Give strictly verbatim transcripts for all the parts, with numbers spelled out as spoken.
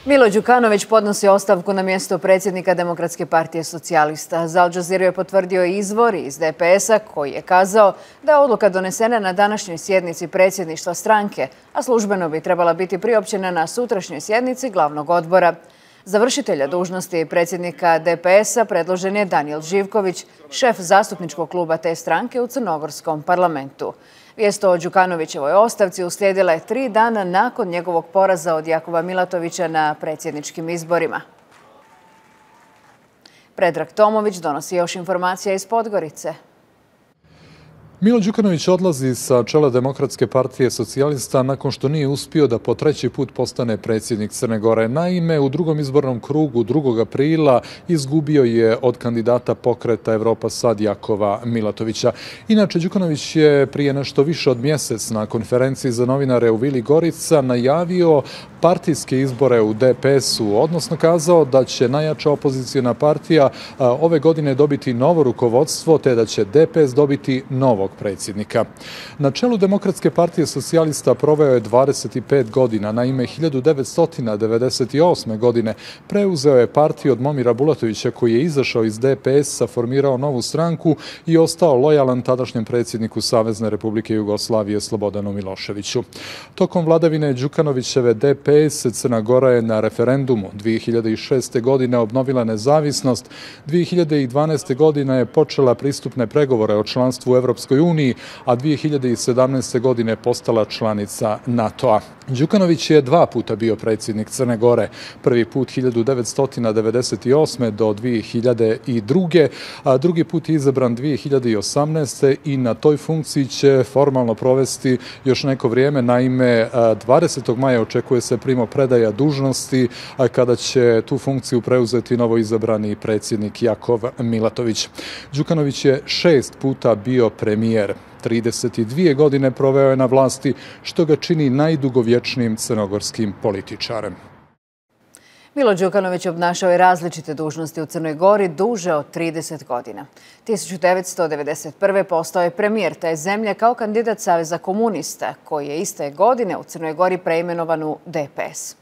Milo Đukanović podnosi ostavku na mjesto predsjednika Demokratske partije socijalista. Za Al Jazeera je potvrdio izvor iz D P S-a koji je kazao da je odluka donesena na današnjoj sjednici predsjedništva stranke, a službeno bi trebala biti priopćena na sutrašnjoj sjednici glavnog odbora. Za vršitelja dužnosti predsjednika D P S-a predložen je Danijel Živković, šef zastupničkog kluba te stranke u crnogorskom parlamentu. Vijest o Đukanovićevoj ostavci uslijedila je tri dana nakon njegovog poraza od Jakova Milatovića na predsjedničkim izborima. Predrag Tomović donosi još informacija iz Podgorice. Milo Đukanović odlazi sa čela Demokratske partije socijalista nakon što nije uspio da po treći put postane predsjednik Crne Gore. Naime, u drugom izbornom krugu drugog aprila izgubio je od kandidata Pokreta Evropa Sad Jakova Milatovića. Inače, Đukanović je prije nešto više od mjesec na konferenciji za novinare u Vili Gorica najavio partijske izbore u D P S-u, odnosno kazao da će najjača opozicijona partija ove godine dobiti novo rukovodstvo, te da će D P S dobiti novog predsjednika. Na čelu Demokratske partije socijalista proveo je dvadeset pet godina. Naime, hiljadu devetsto devedeset osme. godine preuzeo je partiju od Momira Bulatovića koji je izašao iz D P S-a, formirao novu stranku i ostao lojalan tadašnjem predsjedniku Savezne Republike Jugoslavije Slobodanu Miloševiću. Tokom vladavine Đukanovićeve D P S Crna Gora je na referendumu dvije hiljade šeste. godine obnovila nezavisnost, dvije hiljade dvanaeste. godine je počela pristupne pregovore o članstvu u Evropskoj uniji, a dvije hiljade sedamnaeste. godine postala članica NATO-a. Đukanović je dva puta bio predsjednik Crne Gore. Prvi put hiljadu devetsto devedeset osme. do dvije hiljade druge. a drugi put je izabran dvije hiljade osamnaeste. i na toj funkciji će formalno provesti još neko vrijeme. Naime, dvadesetog maja očekuje se primopredaja dužnosti kada će tu funkciju preuzeti novo izabrani predsjednik Jakov Milatović. Đukanović je šest puta bio premijer. trideset dvije godine proveo je na vlasti, što ga čini najdugovječnijim crnogorskim političarem. Milo Đukanović obnašao je različite dužnosti u Crnoj Gori duže od trideset godina. tisuću devetsto devedeset prve. postao je premijer te zemlje kao kandidat Saveza komunista, koji je iste godine u Crnoj Gori preimenovan u D P S.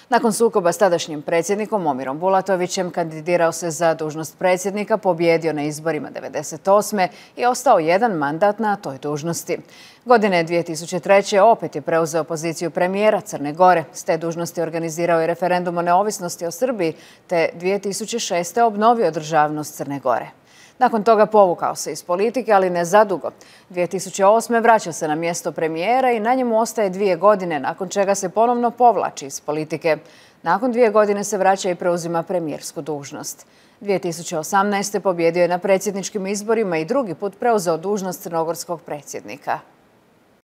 Nakon sukoba s tadašnjim predsjednikom Momirom Bulatovićem kandidirao se za dužnost predsjednika, pobjedio na izborima devedeset osme. i ostao jedan mandat na toj dužnosti. Godine dvije tisuće treće. opet je preuzeo poziciju premijera Crne Gore. S te dužnosti organizirao je referendum o neovisnosti o Srbiji, te dvije tisuće šeste. obnovio državnost Crne Gore. Nakon toga povukao se iz politike, ali ne zadugo. dvije tisuće osme. vraća se na mjesto premijera i na njemu ostaje dvije godine, nakon čega se ponovno povlači iz politike. Nakon dvije godine se vraća i preuzima premijersku dužnost. dvije tisuće osamnaeste. pobjedio je na predsjedničkim izborima i drugi put preuzeo dužnost crnogorskog predsjednika.